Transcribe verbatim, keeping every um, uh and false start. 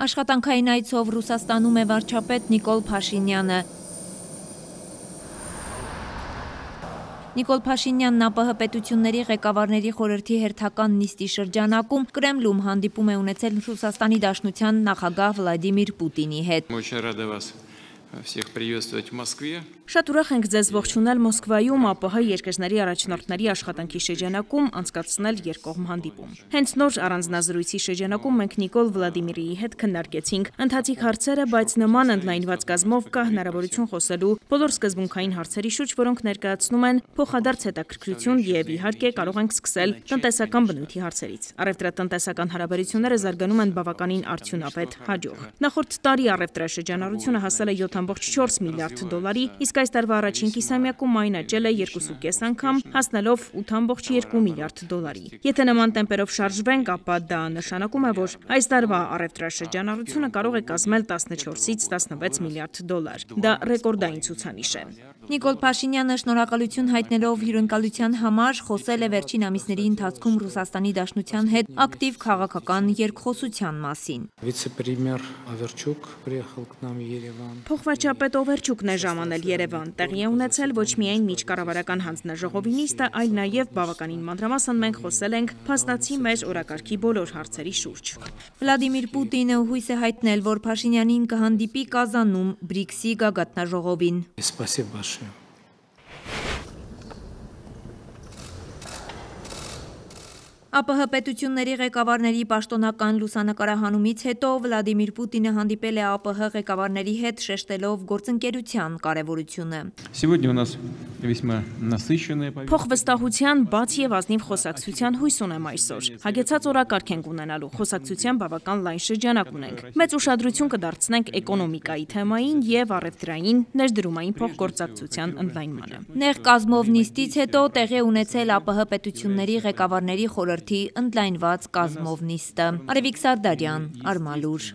Աշխատանքային այցով Ռուսաստանում է վարչապետ Նիկոլ Փաշինյանը։ Նիկոլ Փաշինյանն ԱՊՀ պետությունների ղեկավարների խորհրդի հերթական նիստի շրջանակում Կրեմլում հանդիպում է ունեցել Ռուսաստանի Դաշնության նախագահ Վլադիմիր Պուտինի հետ։ Շատ ուրախ ենք ձեզ ողջունել Մոսկվայում ԱՊՀ երկրների առաջնորդների աշխատանքի շրջանակում անցկացնել երկկողմ հանդիպում։ Հենց նոր առանձնազրույցի շրջանակում մենք Նիկոլ Վլադիմիրիի հետ քննարկեցինք ընթացիկ հարցերը, բայց նման ընդլայնված կազմով կա հնարավորություն խոսելու բոլոր սկզբունքային հարցերի շուրջ, որոնք ներկայացնում են փոխադարձ հետաքրքրություն եւ իհարկե կարող ենք սկսել տնտեսական բնույթի հարցերից։ Առևտրատնտեսական հարաբերությունները զարգանում են բավականին արդյունավետ, հաջող։ Նախորդ տարի առևտրաշրջանառությունը հասել է յոթ կόμma չորս միլիարդ դոլարի, իսկ այս տարվա առաջին կիսամյակում այն աճել է երկու կես անգամ, հասնելով ութ կόμma երկու միլիարդ դոլարի։ Եթե նման տեմպերով շարժվենք, ապա դա նշանակում է, որ այս տարվա առևտրաշրջանառությունը կարող է կազմել տասնչորսից տասնվեց միլիարդ դոլար։ Դա ռեկորդային ցուցանիշ է։ Նիկոլ Փաշինյանը շնորհակալություն հայտնելով հյուրընկալության համար խոսել է վերջին ամիսների ընթացքում Ռուսաստանի Դաշնության հետ ակտիվ քաղաքական երկխոսության մասին։ Փոխվարչապետ Օվերչուկն է ժամանել Երևան, տեղի է ունեցել ոչ միայն միջկառավարական հանձնաժողովի նիստը, այլ նաև բավականին մանրամասն մենք խոսել ենք փաստացի մեր օրակարգի բոլոր հարցերի շուրջ։ Վլադիմիր Պուտինը հույս է հայտնել, որ Փաշինյանին կհանդիպի Կազանում բրիքսի գագաթնաժողովին։ ԱՊՀ պետությունների ղեկավարների պաշտոնական լուսանկարահանումից հետո Վլադիմիր Պուտինը հանդիպել է ԱՊՀ ղեկավարների հետ, շեշտելով գործընկերության կարևորությունը։ Փոխվստահության, բաց եւ ազնիվ խոսակցության հույս ունեմ այսօր։ Հագեցած օրակարգ ենք ունենալու, խոսակցության բավական լայն շրջանակ ունենք։ Մեծ ուշադրություն կդարձնենք էկոնոմիկայի թեմային եւ առևտրային ներդրումային փոխգործակցության ընդլայնմանը։ Նեղ կազմով նիստից հետո տեղի ունեցել ԱՊՀ պետությունների ղեկավարների խորհրդի ընդլայնված կազմով նիստը։ Արևիկ Սարդարյան, Արմալուր։